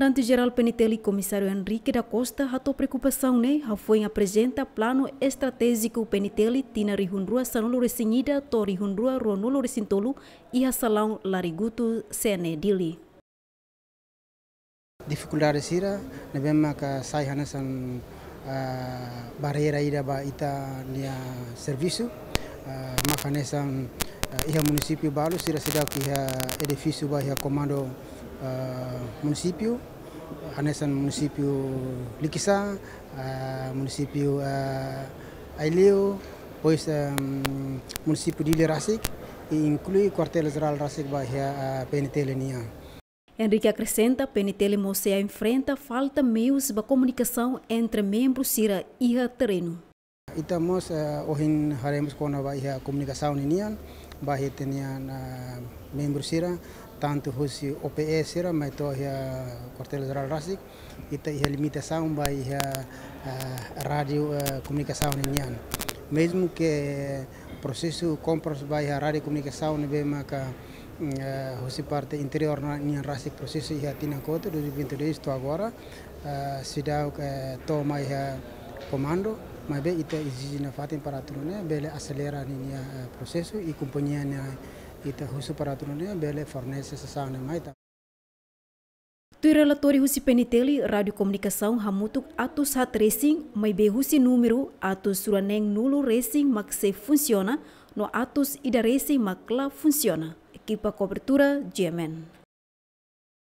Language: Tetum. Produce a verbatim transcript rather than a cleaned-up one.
Komandante Jerál PNTL, Komisáriu Henrique da Costa, hato'o preokupasaun ne'e hafoin aprezenta planu estratéjiku PNTL tinan rihun rua sanulu-resin-ida to'o rihun rua ruanulu-resin-tolu iha salaun Larigutu, CNE Dili. Difikuldade sira ne'ebé maka sai hanesan, ah, barreira ida ba ita-nia servisu, ah, maka hanesan, ah, iha munisípiu balu sira seidauk iha edifísiu ba iha komandu, ah, munisípiu, hanesan munisípiu Likisá, ah, munisípiu, ah, Aileu, depois, ehm, munisípiu Dili rasik, i inklui kuartél jerál rasik ba iha, ah, PNTL nian. Henrique akresenta, PNTL mós sei enfrenta falta meius ba komunikasaun entre membru sira iha terrenu. Ita mós, eh, ohin haree mós kona-ba iha komunikasaun ninian, ba iha ita-nia, eh, membru sira, tantu husi OPE sira, mai to'o iha kuartél jerál rasik, ita iha limitasaun ba iha, eh, rádiu, eh, komunikasaun ninian. Mezmu ke prosesu kompras ba iha rádiu komunikasaun ne'ebé maka, mm, eh, husi parte interiór nian rasik prosesu iha tinan kotuk, dois mil e vinte e dois to'o agora, eh, seidauk, eh, to'o mai iha komandu, maibé ita ezije nafatin para atu nune'e bele aselera ninia, eh, prosesu i kompañia ne'ebé ita husu para atu nune'e bele fornese sasán ne'e mai ita. Tuir relatóriu husi PNTL, rádiu komunikasaun hamutuk atus haat resin, maibé husi númeru atus ruaneen-nulu resin mak sei funsiona, no atus ida resin mak la funsiona. Ekipa kobertura, GMN.